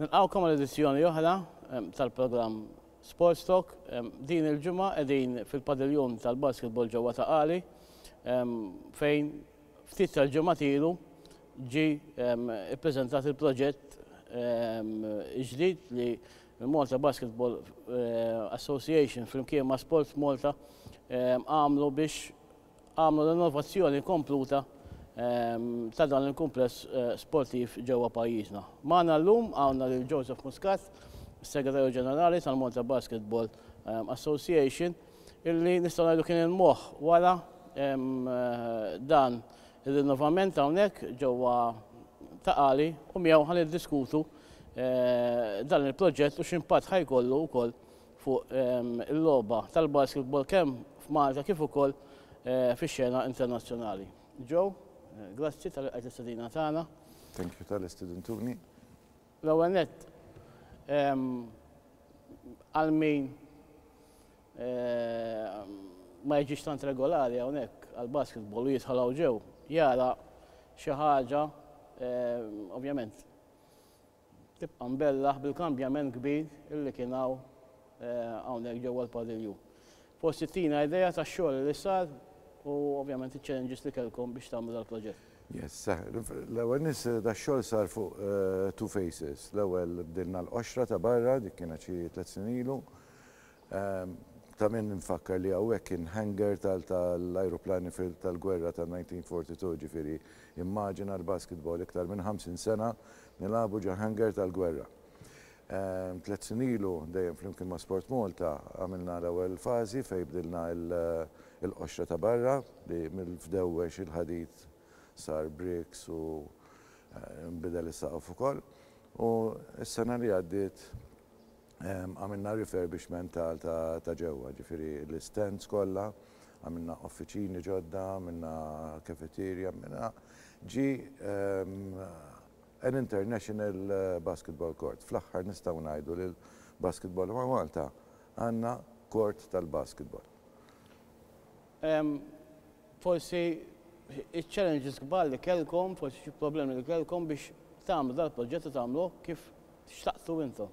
Nilqgħukom għal edizzjoni oħra tal-programm Sports Talk. Din il-ġimgħa qegħdin fil-padiljun tal-basketball ġewwa Ta' Qali fejn ftit tal-ġimgħat ilu ġie ippreżentat il-proġett ġdid li l-Malta Basketball Association flimkien ma' Sport Malta għamlu biex għamlu rinnovazzjoni kompluta ta' dan il-kumpless sportiv ġewwa pajjiżna. Magħna llum għandna lil Joseph Muscat, Segretarju Ġenerali tal-Malta Basketball Association, illi nistgħu ngħidu kien il-moħħ wara dan ir-rinnovament hawnhekk ġewwa Ta' Qali u miegħu ħa niddiskutu dan il-proġett u x'impatt ħa jkollu wkoll fuq il-logħba tal-basketball kemm f'Malta kif ukoll fix-xena internazzjonali. Joe, grazzi talli lqajt l-istedina tagħna. Thank you talli stedintuni. L-ewwel nett, għal min ma jiġix tant regolari hawnhekk għall-basketball u jidħol hawn ġew, jara xi ħaġa ovvjament tibqa' mbellaħ bil-kambjament kbir illi kien hawn hawnhekk ġewwa l-padiljun. Forsi ttina idea tax-xogħol li sar u ovvjament iċ-challenges li kellkom biex tagħmlu dal-proġett. Yes, l-ewwel nies dax-xogħol sar fuq two phases. L-ewwel bdilna l-qoxra ta' barra, dik kienet xi tliet snin ilu. Ta' min nfakkar li hawnhekk kien hangar tal-ajruplani tal-gwerra ta' 1942, ġifieri immaġina l-basketball iktar minn 50 sena nilagħbu ġo hangar tal-gwerra. 3 snin ilu, dejjem flimkien ma' Sport Malta, għamilna l-ewwel fażi fejn bdilna il-qoxra ta' barra li mill-fdewwex il-ħadid sar bricks u nbidel is-saqaf ukoll. U s-sena li għaddiet għamilna refurbishment ta' ġewwa, ġifieri l-stands kollha, għamilna uffiċini ġodda, għamilna cafeteria, għamilna ġi an international basketball court. Fl-aħħar nistgħu ngħidu li l-basketball ma' Malta għandna court tal-basketball. Forsi il-challenges kbar li kellkom, forsi xi problemi li kellkom biex tagħmlu dal-proġett u tagħmlu kif xtaqtu intom.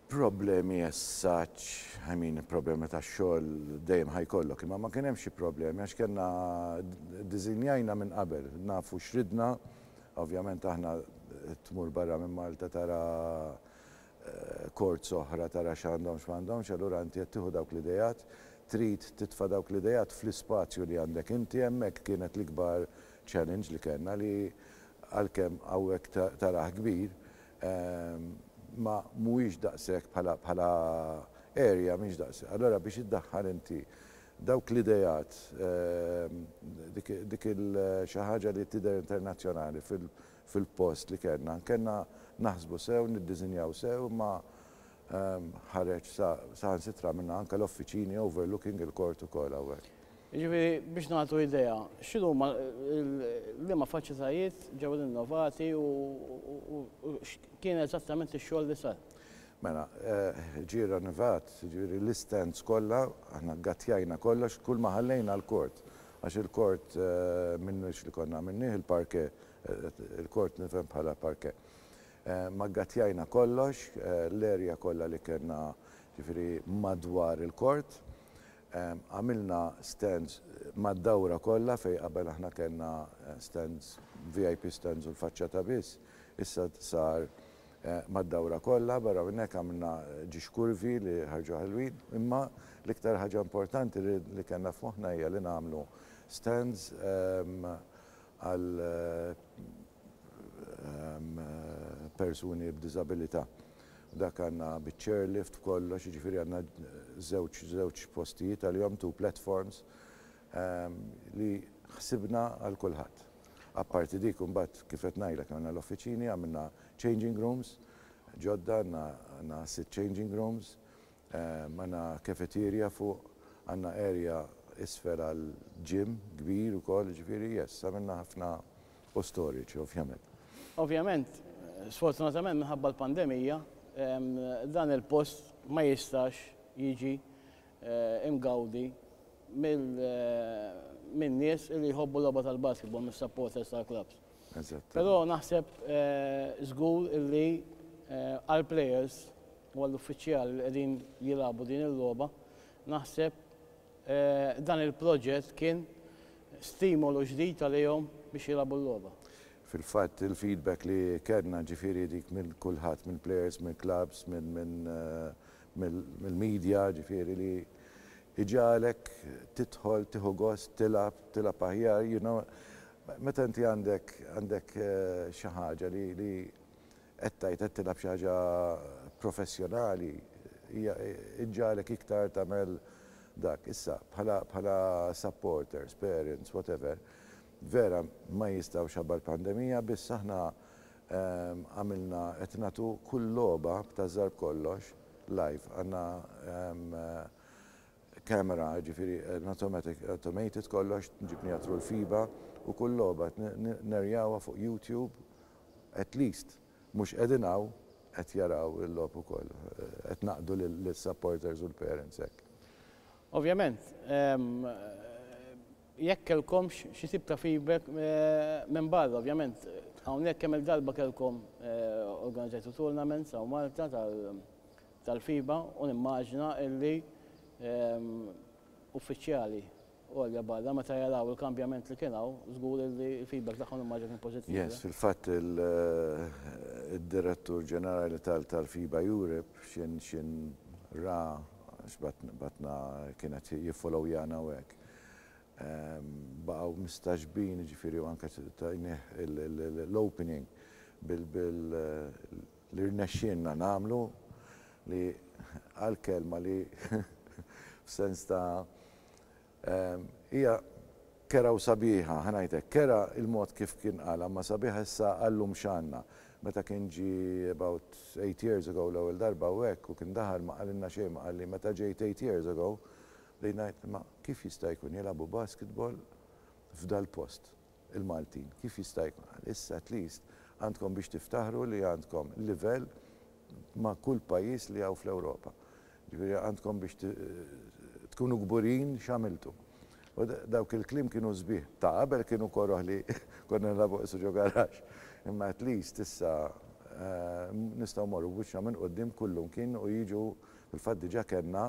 Problemi as such, I mean, problemi ta' xogħol dejjem ħa jkollok, imma ma kien hemm xi problemi għax kellna dizinjajna minn qabel, nafu x'ridna, ovvjament aħna tmur barra minn Malta tara courts oħra tara x'għandhom x'm'għandhomx, allura inti qed tieħu dawk l-idejat, trid titfa' dawk l-idejat fl-ispazju li għandek inti hemmhekk kienet l-ikbar challenge li kellna li għalkemm hawnhekk tarah kbir, ma mhuwiex daqshekk bħala area mhix daqshekk. Allora biex iddaħħal inti dawk l-idejat dik il xi ħaġa li tidher internazzjonali fil-post li kellna, kellna naħsbu sew, niddisinjaw sew, ma ħareġ saħansitra minna anke l-offiċini overlooking il-court ukoll hawnhekk. Ġifieri biex nagħtu idea, x'inhuma liema faċilitajiet ġew rinnovati u x'kien eżattament ix-xogħol li sar? Mela, ġie rinnovat, ġifieri l-stands kollha, aħna ggattjajna kollox, kull ma ħallejna l-court. Għax il-court minnux li konna għamilnieh il-parquet, il-court nifhem bħala parquet. Ma ggattjajna kollox, l-area kollha li kellna ġifieri madwar il-court. Għamilna stands mad-dawra kollha fejn qabel aħna kellna stands, VIP stands u l-faċċata biss, issa sar mad-dawra kollha, barra minn hekk għamilna ġiex kurvi li ħarġu ħelwin, imma l-iktar ħaġa importanti li kellna f'moħħna hija li nagħmlu stands għal persuni b'diżabilità. Dak għandna biċ-chairlift b'kollox, jiġifieri għandna żewġ postijiet għalihom, two platforms, li ħsibna għal kulħadd. Apparti dik imbagħad kif qed ngħidlek għandna l-offiċini, għamilna changing rooms, ġodda għandna sitt changing rooms, għandna cafeteria fuq, għandna area isfel għal gym kbir ukoll, ġifieri yes, għamilna ħafna u storage ovvjament. Ovvjament, sfortunatament minħabba l-pandemija, dan il-post ma jistax jiġi imgawdi. Min-nies li jħobbu logħba tal-basketball, mis-supporters tal-clubs. Eżatt. Però naħseb żgur illi għal-players u għall-uffiċjali li qegħdin jilagħbu din il-logħba, naħseb dan il-proġett kien stimolu ġdid għalihom biex jilagħbu l-logħba. Fil-fatt, il-feedback li kellna, ġifieri dik minn kulħadd, minn players, minn clubs, mill-media, ġifieri li iġagħlek tidħol, tieħu gost, tilgħab, tilgħab aħjar, meta inti għandek xi ħaġa li qed tgħid qed tilgħab xi ħaġa professjonali, hija iġagħlek iktar tagħmel dak. Issa, bħala supporters, parents, whatever, vera ma jistgħux ħabba l-pandemija, biss aħna għamilna qed nagħtu kull logħba b'tażżar kollox live. Għandna kamera, ġifieri automated kollox, ġibnieha through l-FIBA u kull logħba nerjawha fuq YouTube, at least mhux qegħdin hawn qed jaraw il-logħob ukoll, qed naqdu lill-supporters u l-parents hekk. Ovvjament, jekk kellkomx xi tip ta' feedback minn barra, ovvjament, hawnhekk kemm il-darba kellkom organizzajtu tournaments hawn Malta tal-FIBA u nimmaġina illi uffiċjali għolja barra meta jaraw il-kambjament li kien hawn, żgur li l-feedback tagħhom immaġina kien pożittiv. Yes, fil-fatt il-direttur ġenerali tal-FIBA Europe xin ra batna kienet jiffollowjana u hekk. Baqgħu mistagħġbin, ġifieri, u anke tajnieh l-opening bil li rnexxielna nagħmlu, li għal-kelma li f'sens ta' hija kerha u sabiħa, ħa ngħidlek, kerha il-mod kif kien qala, ma sabiħa issa għallum x'għandna. Meta kien ġi about 8 years ago l-ewwel darba u hekk u kien daħal, ma qalilna xejn, ma qalli meta ġejt 8 years ago, li ngħid ma kif jista' jkun jilagħbu basketball f'dal post il-Maltin, kif jista' jkun? Issa at least għandkom biex tiftaħru li għandkom livell ma' kull pajjiż li hawn fl-Ewropa. Ġifieri għandkom biex tkunu kburin x'għamiltu. U dawk il-kliem kienu sbieħ. Ta' qabel kienu koroh li konna nilagħbu qisu ġo garaxx. Imma at least issa nistgħu morru b'wiċċna minn quddiem kullum kien u jiġu, fil-fatt diġà kellna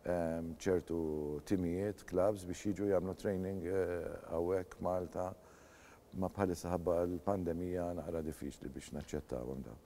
ċertu timijiet, clubs biex jiġu jagħmlu training hawnhekk Malta, ma bħalissa ħabba l-pandemija naqra diffiċli biex naċċettawhom dawn.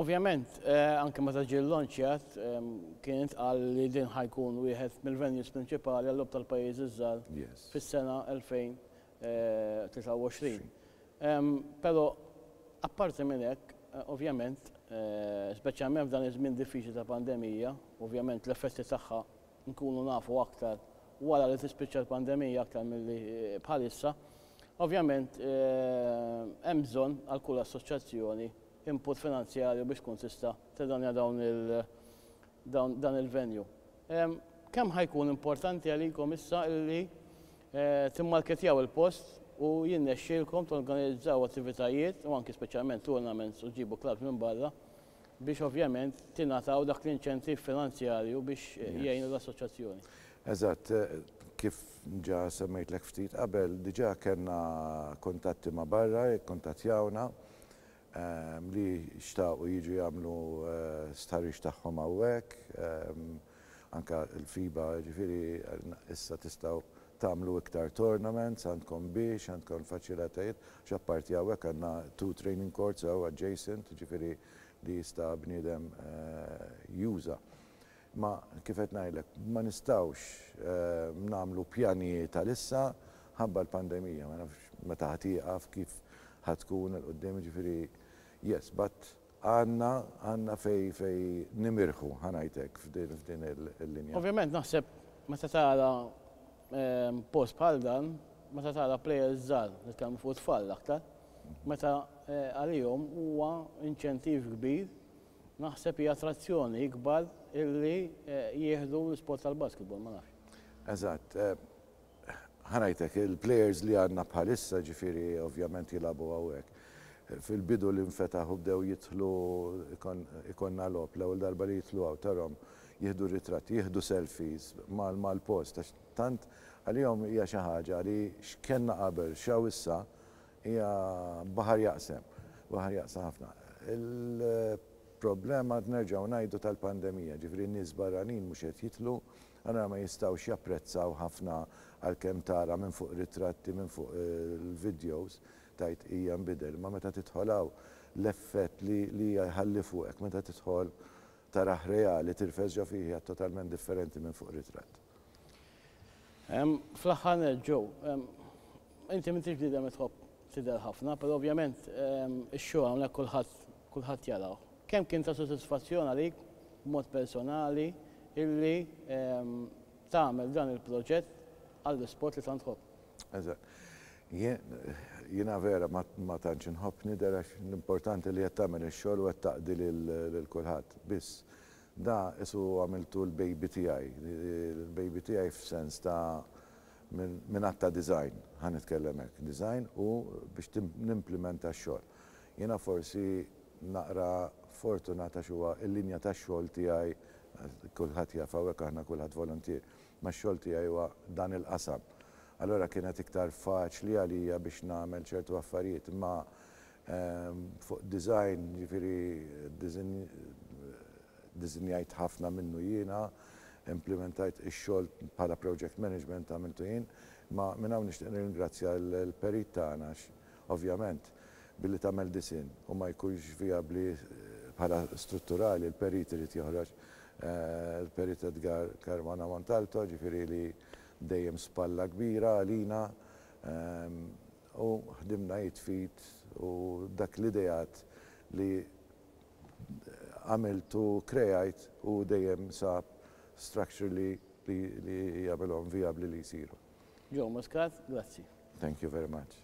Ovvjament, anke meta ġie launchjat, kien intqal li din ħa jkun wieħed mill-venues prinċipali għall-logħob tal-pajjiżi żgħar fis-sena 2023. Però apparti minn hekk, ovvjament, speċjalment f'dan iż-żmien diffiċli ta' pandemija, ovvjament l-effetti tagħha nkunu nafu aktar wara li tispiċċa l-pandemija aktar milli bħalissa. Ovvjament hemm bżonn għal kull assoċjazzjoni input finanzjarju biex tkun tista' tirranja dawn il dan il-venue. Kemm ħa jkun importanti għalikom issa illi timmarketjaw il-post u jinnexxielkom torganizzaw attivitajiet u anki speċjalment tournaments u ġibu clubs minn barra biex ovvjament tingħataw dak l-inċentiv finanzjarju biex jgħinu l-assoċjazzjoni? Eżatt, kif ġa semmejtlek ftit qabel, diġà kellna kontatti ma' barra, kontattjawna li xtaqu jiġu jagħmlu stħarriġ tagħhom hawnhekk, anka l-FIBA, ġifieri issa tistgħu tagħmlu iktar tournaments, għandkom biex, għandkom faċilitajiet, x'apparti hawnhekk għandna two training courts hawn adjacent, ġifieri li jista' bniedem juża. Ma kif qed ngħidlek, ma nistgħux nagħmlu pjanijiet għalissa ħabba l-pandemija, ma nafx meta ħa tieqaf, kif ħa tkun 'il quddiem, ġifieri yes, but għandna fej nimirħu, ħa ngħidlek, f'din il-linja. Ovvjament naħseb meta tara post bħal dan, meta tara players żgħar, nitkellmu fuq tfal aktar, meta għalihom huwa inċentiv kbir, naħseb hija attrazzjoni ikbar illi jieħdu l-sport tal-basketball, ma nafx. Eżatt. Ħa ngħidlek, il-players li għandna bħalissa, ġifieri ovvjament jilagħbu hawnhekk. Fil-bidu li nfetaħ u bdew jidħlu ikollna logħob, l-ewwel darba li jidħlu hawn tarahom. Jieħdu ritratti, jieħdu selfies mal-post għax tant għalihom hija xi ħaġa li x'kellna qabel, x'hawn issa hija baħar jaqsem, baħar jaqsam ħafna. Il-problema nerġgħu ngħidu tal-pandemija, ġifieri n-nies barranin mhux qed jidħlu, allura ma jistgħux japprezzaw ħafna għalkemm tara minn fuq ritratti, minn fuq il-videos, tgħid hija nbidel, imma meta tidħol hawn l-effett li li jħalli fuqek meta tidħol tarah reali tirfes ġo fih hija totalment differenti minn fuq ritratt. Fl-aħħar nett Joe, inti m'intix bniedem li tħobb tidher ħafna, però ovvjament ix-xogħol hawnhekk kulħadd kulħadd jarah. Kemm kien ta' sodisfazzjon għalik b'mod personali illi tagħmel dan il-proġett għall-isport li tant tħobb? Eżatt. Jiena vera ma tantx inħobb nidher għax l-importanti li qed tagħmel ix-xogħol u qed taqdi lil kulħadd. Biss da qisu għamiltu l-baby tiegħi, il-baby tiegħi f'sens ta' minn att ta' design, ħa nitkellem hekk, design u biex nimplimenta x-xogħol. Jiena forsi naqra fortunat għax huwa l-linja tax-xogħol tiegħi, kulħadd jaf hawnhekk aħna kulħadd voluntier, Ma x-xogħol tiegħi huwa dan il-qasam. Allura kienet iktar faċli għalija biex nagħmel ċertu affarijiet. Imma fuq design, jiġifieri disinjajt ħafna minnu jiena, implimentajt ix-xogħol bħala project management għamiltu jien. Imma minn hawn nixtieq nirringrazzja l-perit tagħna għax ovvjament billi tagħmel disinn u ma jkunx vijabbli bħala strutturali, l-perit irid joħroġ il-Perit Edgar Caruana Montalto, ġifieri li dejjem spalla kbira għalina u ħdimna id f'id u dak l-ideat li għamilt u krejajt u dejjem sab structure li li jagħmilhom vijabbli li jsiru. Joe Muscat, grazzi. Thank you very much.